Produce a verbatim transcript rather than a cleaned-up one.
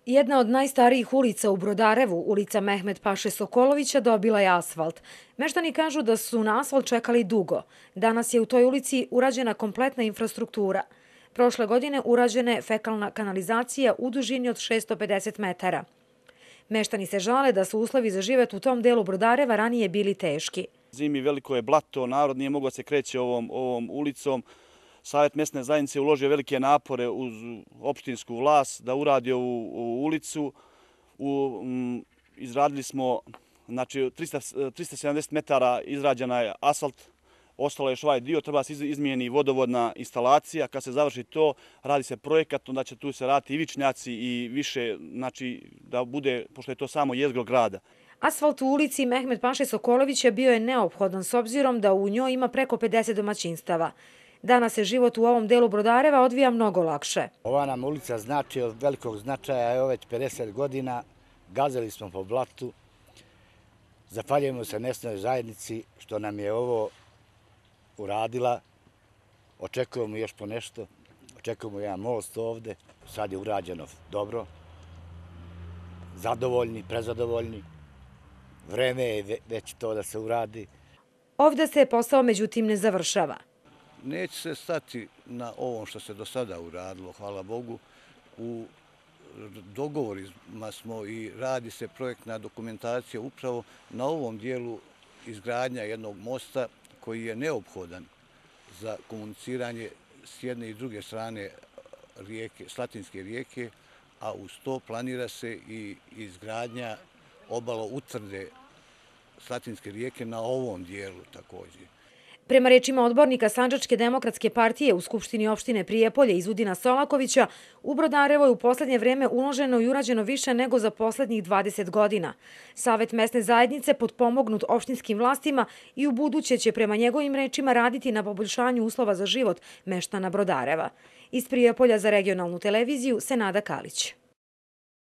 Jedna od najstarijih ulica u Brodarevu, ulica Mehmet Paše Sokolovića, dobila je asfalt. Meštani kažu da su na asfalt čekali dugo. Danas je u toj ulici urađena kompletna infrastruktura. Prošle godine urađena je fekalna kanalizacija u dužini od šessto pedeset metara. Meštani se žale da su uslovi za život u tom delu Brodareva ranije bili teški. Zimi veliko je blato, narod nije mogao se kreći ovom, ovom ulicom. Savjet mesne zajednice uložio velike napore uz opštinsku vlast da uradi ovu, ovu ulicu. U, m, izradili smo znači, trista sedamdeset metara izrađena je asfalt, ostalo je još ovaj dio, treba se izmijeni vodovodna instalacija. Kad se završi to, radi se projekat, onda će tu se raditi i vičnjaci i više, znači da bude, pošto je to samo jezgro grada. Asfalt u ulici Mehmet Paše Sokolovića bio je neophodan s obzirom da u njoj ima preko pedeset domaćinstava. Danas se život u ovom delu Brodareva odvija mnogo lakše. Ova nam ulica znači od velikog značaja, evo već pedeset godina, gazili smo po blatu. Zahvaljujemo se mesnoj zajednici što nam je ovo uradila. Očekujemo još po nešto, očekujemo jedan most ovde. Sad je urađeno dobro, zadovoljni, prezadovoljni. Vreme je već to da se uradi. Ovde se posao međutim ne završava. Neće se stati na ovom što se do sada uradilo, hvala Bogu. U dogovorima smo i radi se projektna dokumentacija upravo na ovom dijelu izgradnja jednog mosta koji je neophodan za komuniciranje s jedne i druge strane rijeke, Slatinske rijeke, a uz to planira se i izgradnja obalo utvrde Slatinske rijeke na ovom dijelu također. Prema rečima odbornika Sandžačke demokratske partije u Skupštini opštine Prijepolje Izudina Solakovića, u Brodarevo je u poslednje vreme uloženo i urađeno više nego za poslednjih dvadeset godina. Savjet mesne zajednice potpomognut opštinskim vlastima i u buduće će prema njegovim rečima raditi na poboljšanju uslova za život meštana Brodareva. Iz Prijepolja za regionalnu televiziju Senada Kalić.